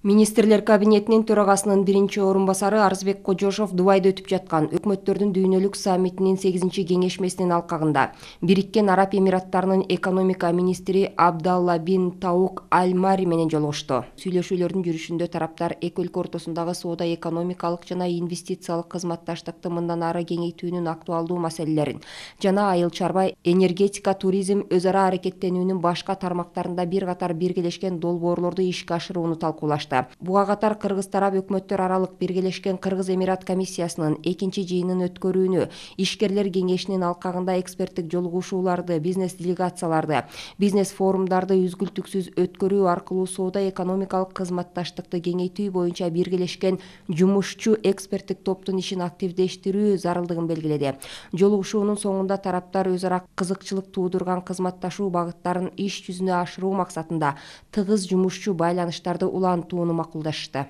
Министрлер кабинетинин төрагасынын биринчи орун басары Арызбек Кожошов Дубайда өтүп жаткан өкмөттөрдүн дүйнөлүк саммитинин 8-чи кеңешмесинин алкагында Бириккен Араб Эмираттарынын экономика министри Абдалла бин Таук Аль-Мари менен жолугушту. Сүйлөшүүлөрдүн жүрүшүндө тараптар эки өлкө ортосундагы соода-экономикалык жана инвестициялык кызматташтыкты мындан ары кеңейтүүнүн актуалдуу маселелерин жана айыл чарба, энергетика, туризм, өз ара аракеттенүүнүн башка тармактарында бир катар биргелешкен долбоорлорду ишке ашырууну талкуулашты. Буга катар Кыргыз тарап өкмөттөр аралык Биргелешкен Кыргыз Эмират комиссиясынын 2-чи жыйынын өткөрүүнү, ишкерлер кеңешинин алкагында эксперттик жолугушууларды, бизнес делегацияларды, бизнес форумдарды үзгүлтүксүз өткөрүү аркылуу соода-экономикалык кызматташтыкты кеңейтүү боюнча биргелешкен жумушчу эксперттик топтун ишин активдештирүү зарылдыгын белгиледи. Жолугушуунун соңунда тараптар өз ара кызыкчылык туудурган кызматташуу багыттарын иш жүзүнө ашыруу максатында тыгыз жумушчу байланыштарды улантууну макулдашты.